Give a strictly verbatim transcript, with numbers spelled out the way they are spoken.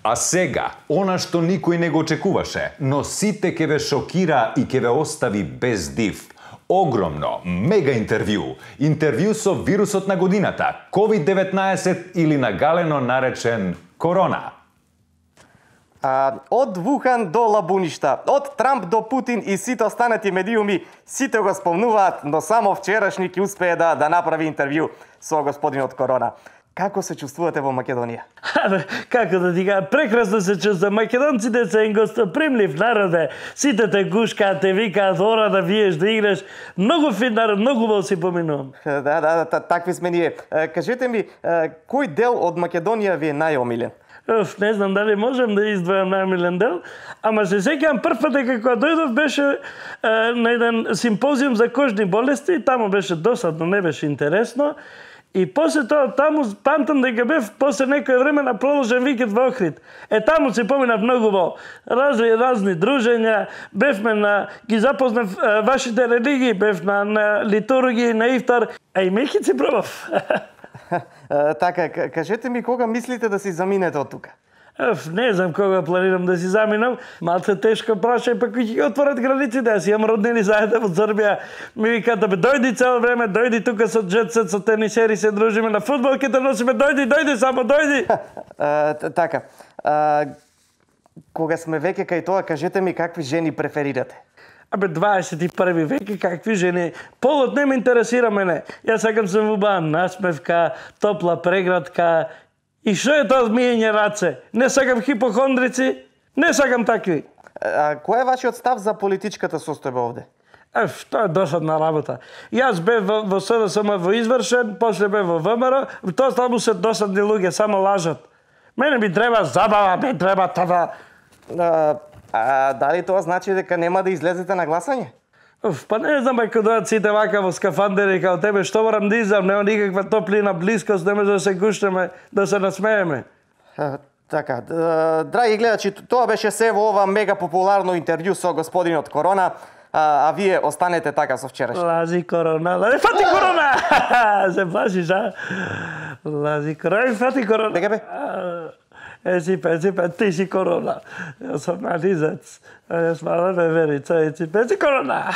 А сега, она што никој не го очекуваше, но сите ќе ве шокира и ќе ве остави без див. Огромно, мега интервју. Интервју со вирусот на годината, ковид деветнаесет или нагалено наречен корона. А, од Вухан до Лабуништа, од Трамп до Путин и сите останати медиуми, сите го спомнуваат, но само вчерашни ќе успее да, да направи интервју со господинот Корона. Како се чувствувате во Македонија? Како да ти кажа, прекрасно се чувствувам. Македонците се ен гостопримлив народ е. Сите те гушкаат, те викаат, ора да виеш, да играш. Многу фин народ, многу во си поминувам. Да, да, да, такви сме ние. Кажете ми, кој дел од Македонија ви е најомилен? Оф, не знам дали можем да издвојам најомилен дел, ама се сеќавам прв пат дека кога дојдов беше е, на еден симпозиум за кожни болести, таму беше досадно, не беше интересно. И после тоа, таму памтам дека бев после некој време на продолжен викенд во Охрид. Е, таму се поминав многу во разни, разни дружења, бевме на, ги запознав е, вашите религии, бев на, на литургии, на ифтар, а и мејкици пробав. Така, кажете ми кога мислите да си заминете од тука? Еф, не знам кога планирам да си заминам. Малце тешко прашај, па кој ќе отворат границите. Јас имам роднини заедно во Србија. Ми викаат да бе дојди цело време, дојди тука со джетсет, со тенисери се дружиме на фудбал, ќе те носиме, дојди, дојди, само дојди. Така. Кога сме веќе кај тоа, кажете ми какви жени преферирате? Абе, дваесет и први век и какви жени. Полот не ме интересира мене. Јас сакам се убава насмевка, топла преградка. И што е тоа миење раце? Не сакам хипохондрици, не сакам такви. А кој е вашиот став за политичката состојба овде? Еф, тоа е досадна работа. Јас бев во, во СДСМ во извршен, после бев во ВМРО, тоа само се досадни луѓе, само лажат. Мене ми треба забава, ми треба това. А, а дали тоа значи дека нема да излезете на гласање? Оф, па не знам, ако дојат сите вака во скафандери као тебе, што морам да изам, нема никаква топлина, близкост, не може да се гуштаме, да се насмееме. А, така, драги гледачи, тоа беше се во ова мега популарно интервју со господинот Корона, а, а вие останете така со вчерашно. Лази Корона, лази, фати Корона! Се плашиш, а? Лази Корона, фати Корона. Дека бе? Еципе, еципе, ти си Корона. Јас сум нализец. Јас мала бе верица, еципе, ти Корона.